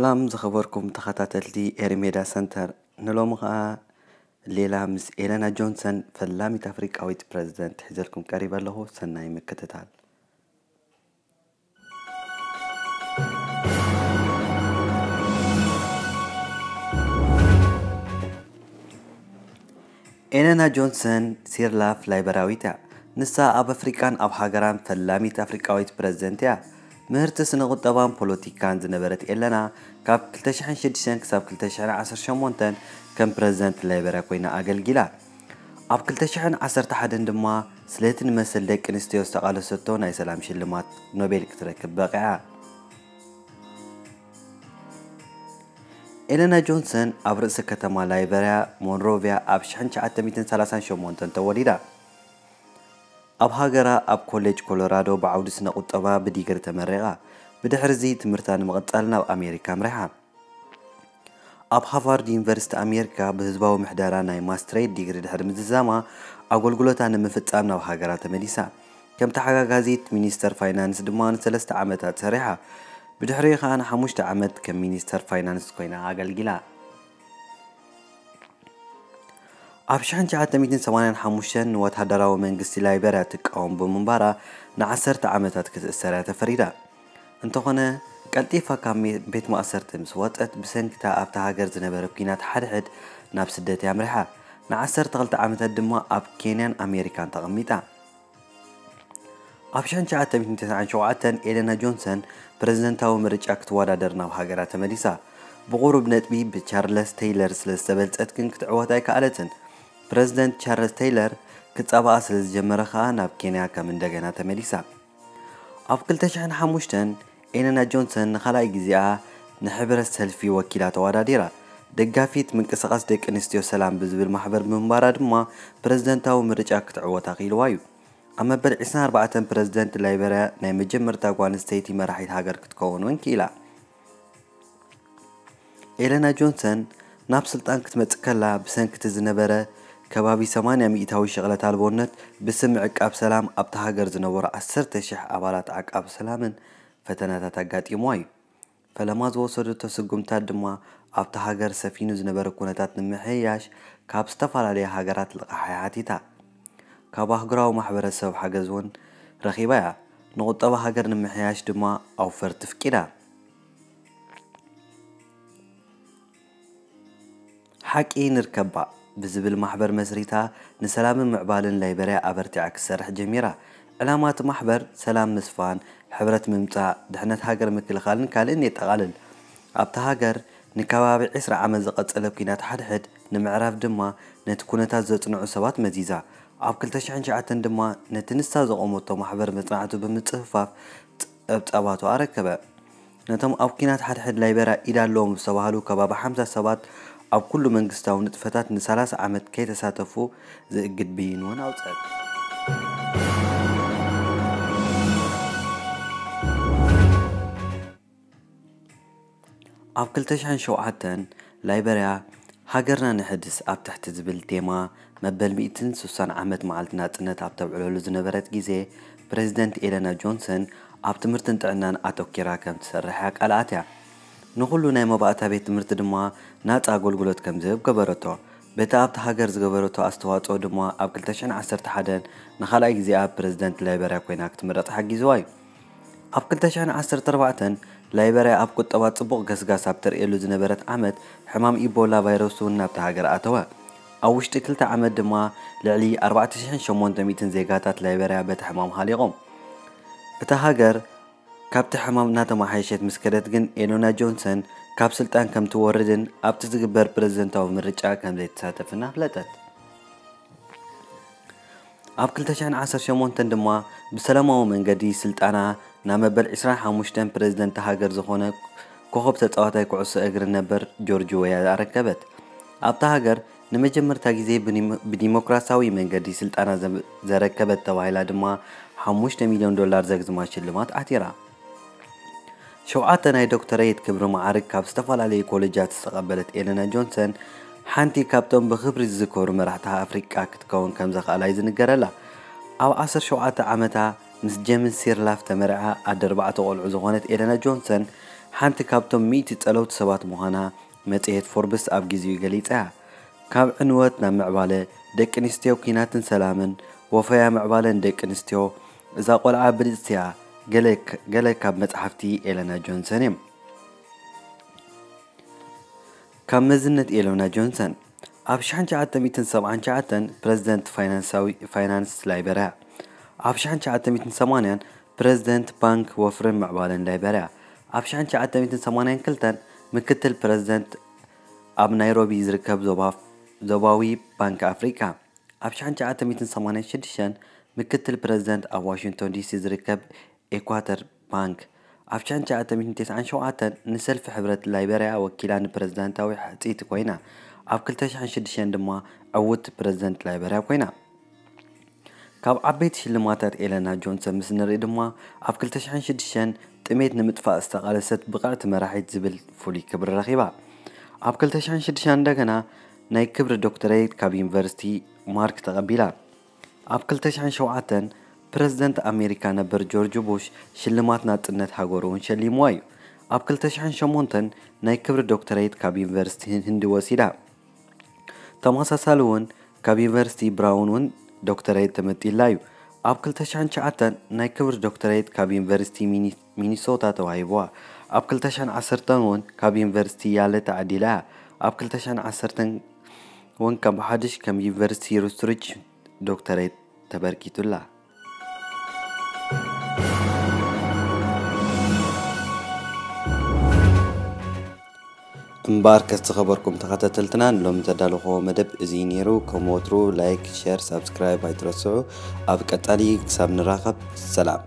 ሰላም ዝኸበርኩም ተኸታተልቲ ኤሪሜዳ ሰንተር፣ ንሎሚ ኸኣ ሌላ ምስ ኤለና ጆንሰን ፈላሚት ኣፍሪቃዊት ፕረዚደንት ሒዘልኩም ቀሪበ ኣለኹ። ሰናይ ምክትታል። ኤለና ጆንሰን ሲርላፍ ላይበራዊት እያ። ንሳ ኣብ ኣፍሪቃን ኣብ ሃገራን ፈላሚት ኣፍሪቃዊት ፕረዚደንት እያ። ምህርቲ ስነ ቁጠባን ፖለቲካን ዝነበረት ኤለና፣ ካብ ክልተ ሽሕን ሽዱሽተን ክሳብ ክልተ ሽሕን ዓሰርተ ሸሞንተን ከም ፕረዚደንት ላይበርያ ኮይና ኣገልጊላ። ኣብ ክልተ ሽሕን ዓሰርተ ሓደን ድማ ስለቲ ንመሰል ደቂ ኣንስትዮ ዝተቓለሰቶ ናይ ሰላም ሽልማት ኖቤል ክትረክብ በቒዓ። ኤለና ጆንሰን ኣብ ርእሲ ከተማ ላይበርያ ሞንሮቪያ ኣብ ሽሕን ትሽዓተ ሚእትን ሰላሳን ሸሞንተን ተወሊዳ። ኣብ ሃገራ ኣብ ኮሌጅ ኮሎራዶ ብዓውዲ ስነ ቁጠባ ብዲግሪ ተመሪቓ። ብድሕሪ እዚ ትምህርታ ንምቕጻል ናብ ኣሜሪካ ኣምሪሓ። ኣብ ሃቫርድ ዩኒቨርሲቲ ኣሜሪካ ብህዝባዊ ምሕደራ ናይ ማስትሬት ዲግሪ ድሕሪ ምዝዛማ፣ ኣገልግሎታ ንምፍጻም ናብ ሃገራ ተመሊሳ። ከም ተሓጋጋዚት ሚኒስተር ፋይናንስ ድማ ንሰለስተ ዓመታት ሰሪሓ። ብድሕሪኡ ኸኣ ንሓሙሽተ ዓመት ከም ሚኒስተር ፋይናንስ ኮይና ኣገልጊላ። ኣብ ሽሕን ትሽዓተ ሚእትን ሰማንያን ሓሙሽተን ንወተሃደራዊ መንግስቲ ላይበርያ ትቃወም ብምንባራ ንዓሰርተ ዓመታት ክትእሰር እያ ተፈሪዳ። እንተኾነ፣ ቀልጢፋ ካብ ሜ-፣ ቤት ማእሰርቲ ምስ ወጸት፣ ብሰንኪ እታ ኣብታ ሃገር ዝነበረ ኲናት ሓድሕድ ናብ ስደት እያ ኣምሪሓ። ንዓሰርተ ክልተ ዓመታት ድማ ኣብ ኬንያን ኣሜሪካን ተቐሚጣ። ኣብ ሽሕን ትሽዓተ ሚእትን ተስዓን ሸውዓተን ኤለና ጆንሰን ፕረዚደንታዊ ምርጫ ክትወዳደር ናብ ሃገራ ተመሊሳ። ብቑሩብ ነጥቢ ብቻርለስ ቴይለር ስለ ዝተበልጸት ግን ክትዕወት ኣይከኣለትን። ፕረዚደንት ቻርለስ ቴይለር ክጻባኣ ስለ ዝጀመረ ከኣ ናብ ኬንያ ከም እንደገና ተመሊሳ። ኣብ ክልተ ሽሕን ሓሙሽተን ኤለና ጆንሰን ንኻልኣይ ግዜኣ ንሕብረት ሰልፊ ወኪላ ተወዳዲራ። ደጋፊት ምንቅስቓስ ደቂ ኣንስትዮ ሰላም ብዝብል ማሕበር ብምንባራ ድማ ፕረዚደንታዊ ምርጫ ክትዕወት ኣኽኢልዋ እዩ። ኣብ መበል ዕስራን ኣርባዕተን ፕረዚደንት ላይበርያ ናይ መጀመርታ ጓል ኣንስተይቲ መራሒት ሃገር ክትከውን እውን ክኢላ። ኤለና ጆንሰን ናብ ስልጣን ክትመጽእ ከላ ብሰንኪ እቲ ዝነበረ ከባቢ ሰማንያ ሚእታዊ ሽቕለት ኣልቦነት ብስም ዕቃብ ሰላም ኣብታ ሃገር ዝነበሩ ዓሰርተ ሽሕ ኣባላት ዓቃቢ ሰላምን ፈተናታት ኣጋጢምዋ እዩ። ፈለማ ዝወሰደቶ ስጉምታት ድማ ኣብታ ሃገር ሰፊኑ ዝነበረ ኩነታት ንምሕያሽ ካብ ዝተፈላለያ ሃገራት ልቓሕ እያ ሓቲታ። ካብ ኣህጉራዊ ማሕበረሰብ ሓገዝ እውን ረኺባ እያ። ንቁጠባ ሃገር ንምሕያሽ ድማ ኣውፈርቲ ኣፍቂዳ። ሓቂ ንርከባ ብዝብል ማሕበር መስሪታ ንሰላምን ምዕባልን ላይበርያ ኣበርቲዓ ክትሰርሕ ጀሚራ። ዕላማ እቲ ማሕበር ሰላም ምስፋን፣ ሕብረት ምምጻእ፣ ድሕነት ሃገር ምክልኻልን ካልእን የጠቓልል። ኣብታ ሃገር ንከባቢ ዕስራ ዓመት ዝቐጸለ ኲናት ሓድሕድ ንምዕራፍ ድማ ነቲ ኩነታት ዘጽንዑ ሰባት መዚዛ። ኣብ ክልተ ሽሕን ትሽዓተን ድማ ነቲ ንሳ ዘቖመቶ ማሕበር መጽናዕቱ ብምጽፍፋፍ ጸብጻባቱ ኣረከበ። ነቶም ኣብ ኲናት ሓድሕድ ላይበርያ ኢድ ኣለዎም ዝተባህሉ ከባቢ ሓምሳ ሰባት ኣብ ኩሉ መንግስታዊ ንጥፈታት ንሰላሳ ዓመት ከይተሳተፉ ዝእግድ ብይን እውን ኣውጸት። ኣብ ክልተ ሽሕን ሸውዓተን ላይበርያ ሃገርና ንሕድስ ኣብ ትሕቲ ዝብል ቴማ መበል ሚእትን ስሳን ዓመት መዓልቲ ናጽነት ኣብ ተብዕለሉ ዝነበረት ግዜ፣ ፕረዚደንት ኤለና ጆንሰን ኣብ ትምህርትን ጥዕናን ኣተኲራ ከም ትሰርሕ ኣቃልዓት እያ። ንኹሉ ናይ መባእታ ቤት ትምህርቲ ድማ ናጻ ኣገልግሎት ከም ዝህብ ገበረቶ። በቲ ኣብታ ሃገር ዝገበረቶ ኣስተዋጽኦ ድማ ኣብ ክልተ ሽሕን ዓሰርተ ሓደን ንኻልኣይ ግዜኣ ፕረዚደንት ላይበርያ ኮይና ክትምረጽ ሓጊዝዋ እዩ። ኣብ ክልተ ሽሕን ዓሰርተ ኣርባዕተን ላይበርያ ኣብ ቁጠባ ጽቡቕ ገስጋስ ኣብ ተርእየሉ ዝነበረት ዓመት፣ ሕማም ኢቦላ ቫይረስ እውን ናብታ ሃገር ኣተወ። ኣብ ውሽጢ ክልተ ዓመት ድማ ልዕሊ ኣርባዕተ ሽሕን ሸሞንተ ሚእትን ዜጋታት ላይበርያ በቲ ሕማም ሃሊቖም። እታ ሃገር ካብቲ ሕማም እናተመሓየሸት ምስ ከደት ግን፣ ኤሎና ጆንሰን ካብ ስልጣን ከም ትወርድን ኣብቲ ዝግበር ፕረዚደንታዊ ምርጫ ከም ዘይትሳተፍን ኣፍለጠት። ኣብ ክልተ ሽሕን ዓሰርተ ሸሞንተን ድማ ብሰላማዊ መንገዲ ስልጣና ናብ መበል ዕስራን ሓሙሽተን ፕረዚደንት ሃገር ዝኾነ ኮኸብ ተጻዋታይ ኩዕሶ እግሪ ነበር ጆርጅ ዌያ ኣረከበት። ኣብታ ሃገር ንመጀመርታ ግዜ ብዲሞ-፣ ብዲሞክራሲያዊ መንገዲ ስልጣና ዘ-፣ ዘረከበት ተባሂላ ድማ ሓሙሽተ ሚልዮን ዶላር ዘግዝማ ሽልማት ዓቲራ። ሸውዓተ ናይ ዶክተረይት ክብሪ መዓርግ ካብ ዝተፈላለዩ ኮሌጃት ዝተቐበለት ኤለና ጆንሰን፣ ሓንቲ ካብቶም ብኽብሪ ዝዝከሩ መራሕቲ ኣፍሪቃ ክትከውን ከም ዘኽኣላ እዩ ዝንገረላ። ኣብ ዓሰርተ ሸውዓተ ዓመታ ምስ ጀምስ ሲርላፍ ተመርዓ ኣደ ኣርባዕተ ቆልዑ ዝኾነት ኤለና ጆንሰን፣ ሓንቲ ካብቶም ሚእቲ ጸለውቲ ሰባት ምዃና መጽሔት ፎርብስ ኣብ ግዜኡ ገሊጻ እያ። ካብ ዕንወት ናብ ምዕባለ፣ ደቂ ኣንስትዮ፣ ኲናትን ሰላምን፣ ወፈያ ምዕባለን ደቂ ኣንስትዮ፣ እዛ ቆልዓ ብልጽቲ እያ፣ ገለ ክ-፣ ገለ ካብ መጽሓፍቲ ኤለና ጆንሰን እዮም። ካብ መዝነት ኤለና ጆንሰን። ኣብ ሺሕ ትሽዓተ ሚእትን ሰብዓን ትሽዓተን ፕረዚደንት ፋይናንሳዊ፣ ፋይናንስ ላይበርያ። ኣብ ሺሕ ትሽዓተ ሚእትን ሰማንያን ፕረዚደንት ባንክ ወፍርን ምዕባለን ላይበርያ። ኣብ ሺሕ ትሽዓተ ሚእትን ሰማንያን ክልተን ምክትል ፕረዚደንት ኣብ ናይሮቢ ዝርከብ ዞባ-፣ ዞባዊ ባንክ ኣፍሪቃ። ኣብ ሺሕ ትሽዓተ ሚእትን ሰማንያን ሽዱሽተን ምክትል ፕረዚደንት ኣብ ዋሽንግቶን ዲሲ ዝርከብ ኤኳተር ባንክ። ኣብ ሺሕ ትሽዓተ ሚእትን ተስዓን ሸውዓተን ንሰልፊ ሕብረት ላይበርያ ወኪላ ንፕረዚዳንታዊ ሕጽይቲ ኮይና። ኣብ ክልተ ሽሕን ሽዱሽተን ድማ ዕውት ፕረዚደንት ላይበርያ ኮይና። ካብ ዓበይቲ ሽልማታት ኤለና ጆንሰን ምስ ንርኢ ድማ ኣብ ክልተ ሽሕን ሽዱሽተን ጥሜት ንምጥፋእ ዝተቓለሰት ብቕዕቲ መራሒት ዝብል ፍሉይ ክብሪ ረኺባ። ኣብ ክልተ ሽሕን ሽዱሽተን እንደገና ናይ ክብሪ ዶክተሬት ካብ ዩኒቨርሲቲ ማርክ ተቐቢላ። ኣብ ክልተ ሽሕን ሸውዓተን ፕረዚደንት ኣሜሪካ ነበር ጆርጅ ቡሽ ሽልማት ናጽነት ሃገሩ እውን ሸሊምዋ እዩ። ኣብ ክልተ ሽሕን ሸሞንተን ናይ ክብሪ ዶክተሬት ካብ ዩኒቨርሲቲ ህንዲ ወሲዳ። ተመሳሳሊ እውን ካብ ዩኒቨርሲቲ ብራውን እውን ዶክተሬት ተመጢላ እዩ። ኣብ ክልተ ሽሕን ትሽዓተን ናይ ክብሪ ዶክተሬት ካብ ዩኒቨርሲቲ ሚኒ-፣ ሚኒሶታ ተዋሂብዋ። ኣብ ክልተ ሽሕን ዓሰርተን እውን ካብ ዩኒቨርሲቲ ያለ ተዓዲላ እያ። ኣብ ክልተ ሽሕን ዓሰርተን እውን ካብ ሓድሽ ከም ዩኒቨርሲቲ ሩስትሪች ዶክተሬት ተበርኪቱላ። እምበኣርከስ ዝኸበርኩም ተኸታተልትና፣ ንሎሚ ዘዳለኹዎ መደብ እዚ ነይሩ። ከም ወትሩ ላይክ፣ ሸር፣ ሳብስክራይብ ኣይትረስዑ። ኣብ ቀጻሊ ክሳብ ንራኸብ፣ ሰላም።